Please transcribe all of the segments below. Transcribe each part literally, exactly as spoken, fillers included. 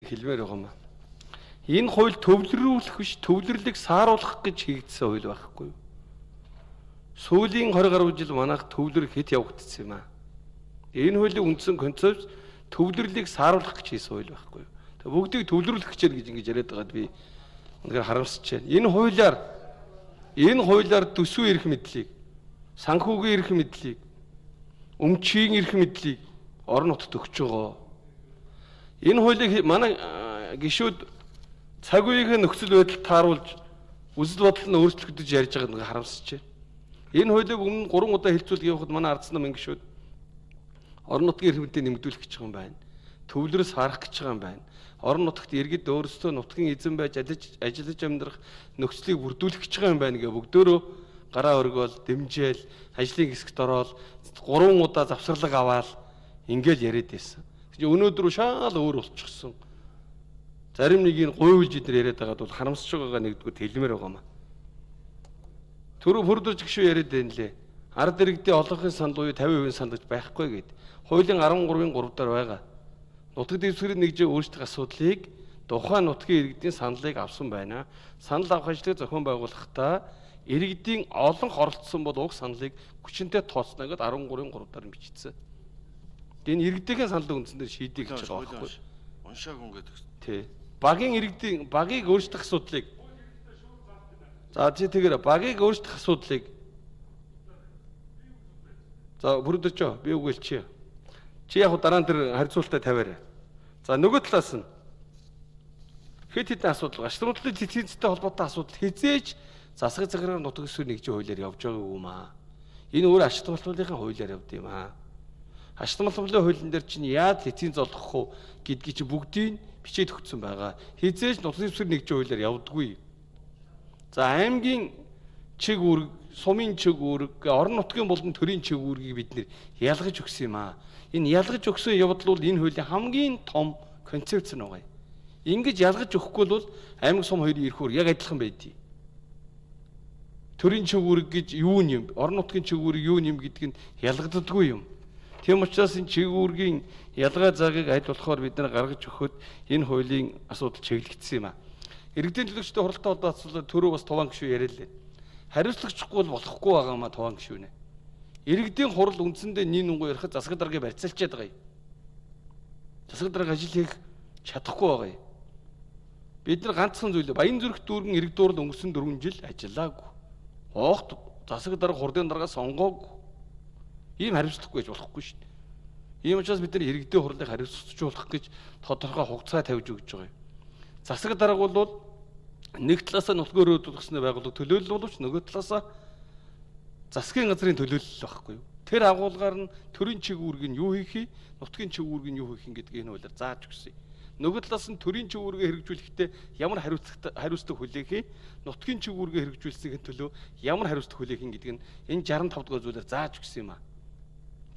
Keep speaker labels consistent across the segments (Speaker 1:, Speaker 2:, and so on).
Speaker 1: хэлмээр байгаа юм. Энэ хууль төвлөрүүлэх биш, төвлөрлийг сааруулах гэж хийгдсэн хууль байхгүй юу? Сүүлийн двадцать гаруй жил манайх төвлөр хэд явагдсан юм аа. Энэ хуулийн үндсэн концепт төвлөрлийг сааруулах гэж хийсэн хууль байхгүй юу? Тэгээ бүгдийг төвлөрүүлэх гэж ингэж ингэж яриад байгаад би үнэхээр харамсаж байна. Энэ хуулиар энэ хуулиар төсвийн эрх мэдлийг, санхүүгийн эрх мэдлийг, өмчийн эрх мэдлийг орон нутгад өгч байгаа. Энэ хуулийг манай гишүүд цаг үеийн нөхцөл байдал тааруулж үзэл бодол нь өөрчлөх гэж ярьж байгааг нэг харамсаж байна. Энэ хуулийг өмнө гурван удаа хэлцүүлж явахад манай ардсан намын гишүүд орон нутгийн эрх мэдээ нэмэгдүүлэх гэж байгаа юм байна. Төвлөрөөс харах гэж байгаа юм байна. Орон нутагт иргэд өөрсдөө нутгийн эзэн байж ажиллаж амьдрах нөхцөлийг бүрдүүлэх гэж байгаа юм байна гэ бүгдөө гараа өргөөл, дэмжээл, ажлын хэсэгт ороод гурван удаа завсарлаг аваад ингээл яриад байсан. Тэгвэл өнөөдөр шаал өөр болчихсон. Зарим нэг нь гуйлж идэр яриад байгаад бол харамсаж байгаагаа нэгдүгээр хэлмээр байгаа юм. Түрүү хурдж гişүү яриад байна лээ. Ард иргэдийн олонхын санд буюу тавин хувийн санд гэж байхгүй гэд. Хуулийн арван гурвын гурав дээр байгаа. Нутаг дэвсгэрийн нэгжээ өөрсдөх асуудлыг тухайн нутгийн иргэдийн саналыг авсан байна. Санал авах ажлыг зохион байгуулахдаа иргэдийн олон оролцсон бол уг саналыг хүчинтэй тооцно гэдээ арван гурвын гурав дээр бичсэн. Энэ иргэдийн саналын үндсэн дээр шийдэх гэж байгаа байхгүй.
Speaker 2: Уншааг хүн гэдэг.
Speaker 1: Тий. Багийн иргэдийн багийг өөрсдөх асуудлыг за чи тэгэр багийг өөрсдөх асуудлыг за бүрдэж би үгэлч чи. Чи яг дараа нь тэр харьцуултаа тавиарай. За нөгөө талаас нь хэд хэдэн асуудал, гашууртлын цэцэгтэй холбоотой асуудал хизээж засаг захиргааны нутаг дэвсгэрийн нэгжийн хуулиар явж байгаа юм аа. Энэ өөр ашигт болтуулын хуулиар явд юм аа. Ашигт болтуулын хуулийн дээр чинь яаж эцсийн золгох уу гэдгийг чи бүгдийг бичээд өгсөн байгаа. Хизээж нутаг дэвсгэрийн нэгжийн хуулиар явдаггүй. За аймгийн чиг үүрэг, сумын чиг үүрэг, орон нутгийн болон төрийн чиг үүргийг бид нэр ялгаж өгсөн юм аа. Энэ ялгаж өгсөн явдал бол энэ хуулийн хамгийн том концепц нь байгаа. Ингэж ялгаж өгөхгүй бол аймаг сум хоёрын эрх үүрэг яг адилхан байдгийг. Төрийн чиг үүрэг гэж юу юм? Орон нутгийн чиг үүрэг юу юм гэдг нь ялгагддаггүй юм. Тийм учраас энэ чиг үүргийн ялгаа заагийг аль болохоор бид нар гаргаж өгөхөд энэ хуулийн асуудал чиглэгдсэн юм аа. Иргэдийн төлөөлөгчтэй хуралтай холбоотой төрөө бас туван гишүү яриа лээ. Хариуцлагчгүй бол болохгүй байгаа маа туван гишүүнэ. Иргэдийн хурал үндсэндээ нин унгуу ярихад засаг даргаыг барьцаалчаад байгаа юм. Засаг дарга ажил хийх чадахгүй байгаа юм. Бид нар ганцхан зүйлээ Баян зүрх дүүргэн иргэд дуурал өнгөрсөн дөрвөн жил ажиллаагүй. Оогт засаг дарга хурдын дарга сонгоогүй. Ийм хариуцлагагүй гэж болохгүй шүү дээ. Ийм учраас бид нар иргэдийн хурлыг хариуцлагажуулах гэж тодорхой хугацаа тавьж өгч байгаа юм. Засаг дарга бол нэг талаасаа нутгийн өрөөд болгосны байгууллага төлөөлөл боловч нөгөө талаасаа засгийн газрын төлөөлөл байхгүй юу. Тэр агуулгаар нь төрийн чиг үүрэг нь юу хийхий, нутгийн чиг үүрэг нь юу хийх гэдгийг энэ хуулиар зааж өгсөн. Нөгөө талаас нь төрийн чиг үүргээ хэрэгжүүлэхдээ ямар хариуцлага хариуцлага хүлээх, нутгийн чиг үүргээ хэрэгжүүлсэний төлөө ямар хариуцлага хүлээх гэдэг нь энэ шестдесет и тавь дугаар зүйлээр зааж өгсөн юм аа.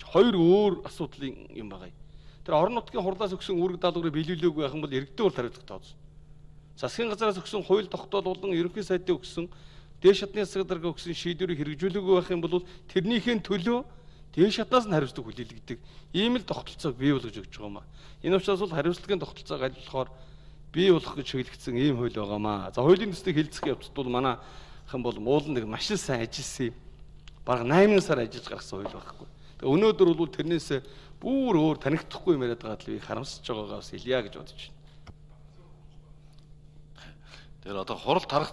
Speaker 1: Хоёр өөр асуудлын юм байгаа. Тэр орон нутгийн хурлаас өгсөн үүрэг даалгаврыг биелүүлээгүй байх юм бол иргэдийн урд хариуцлага тооцсон. Засгийн газраас өгсөн хууль тогтоол болон ерөнхий сайдын өгсөн дээш шатны засаг дарга өгсөн шийдвэрийг хэрэгжүүлээгүй байх юм бол тэрнийхээ төлөө дээш шатнаас нь хариуцлага хүлээлгдэг. Ийм л тогтолцоог бий болгож өгч байгаа юм аа. Энэ учраас бол хариуцлагын тогтолцоог аль болохоор бий болгох гэж чиглэгдсэн ийм хууль байгаа юм аа. За хуулийн төслийг хэлцэх явцад бол манай хэн бол муулан нэг маш сайн ажилласан юм. Бараг найман сар ажиллаж гаргасан хууль байхгүй. Тэгээ өнөөдөр бол тэрнээс бүр өөр танигдахгүй юм яриад байгаа л би харамсаж байгаагаас хэлье гэж бодож байна.
Speaker 2: Тэр одоо хурал тарах